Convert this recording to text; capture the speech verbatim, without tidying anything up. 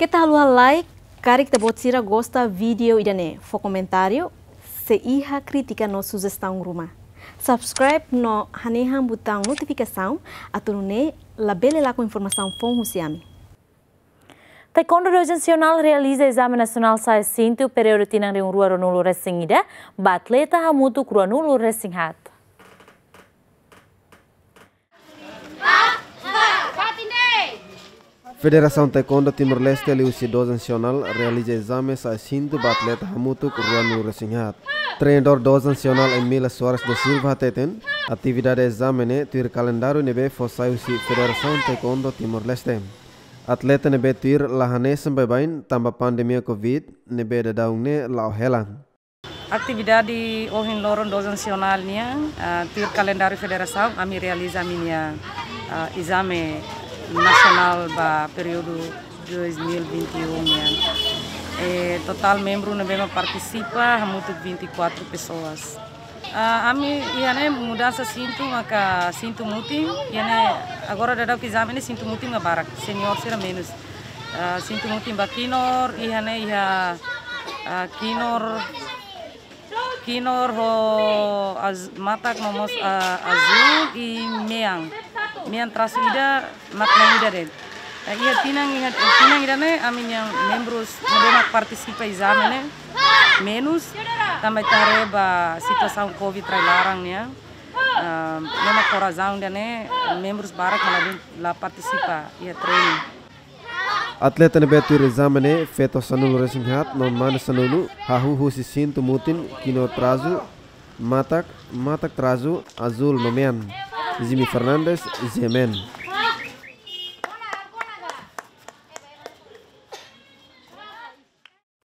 Keta haluha like, karik ita-boot sira gosta vídeo ida-ne'e, fó komentáriu, se iha krítika no sujestaun ruma. Subscribe no hanehan butaun notifikasaun, atu nune'e labele lakon informasaun foun husi ami. Taekwondo Dozen Sional realiza ezame nasionál sa'e sintu períodu tinan rihun rua ruanulu resin ida, ba atleta hamutuk ruanulu resin haat. Federasaun Taekwondo Timor-Leste liuhusi Dozen Sional realiza ezame sa'e sintu ba atleta hamutuk ruanulu resin haat. Treinadór Dozen Sional Emília Soares da Silva hateten, atividade ezame ne'e tuir kalendáriu ne'ebé fó sai husi Federasaun Taekwondo Timor-Leste. Atleta ne'ebé tuir la hanesan baibain tanba pandemia Covid ne'ebé daudaun ne'e la'o hela. Atividade ohin loron Dozen Sional nian, ah, tuir kalendáriu federasaun, ami realiza ami-nia, ah, ezame nasionál ba períodu dois mil e vinte e um nian. Eh, totál membru ne'ebé mak partisipa hamutuk vinte e quatro pessoas. Ah, ami iha ne'e mudansa sintu maka sintu mutin, iha ne'e agora daudaun ezame ne'e sintu mutin mak barak, senior sira menus. Ah, sintu mutin ba kinur, iha ne'e iha, ah, kinur, kinur ho az-, matak no mós, ah, azúl i mean. Mean trasu ida, mak mean ida de'it. Eh, iha tinan, iha tinan ida-ne'e, ami-nia membrus ne'ebé mak partisipa ezame ne'e menus, tanba ita haree ba situasaun Covid rai laran nian. Ah, ne'e mak ho razaun ida-ne'e, membrus barak mak la, la partisipa iha treinu. Atleta ne'ebé tuir ezame ne'e, feto sanulu resin haat no mane sanulu, hahú husi sintu mutin, kinur trasu, matak, matak trasu, azúl no mean. Jimmy Fernandes, G M N.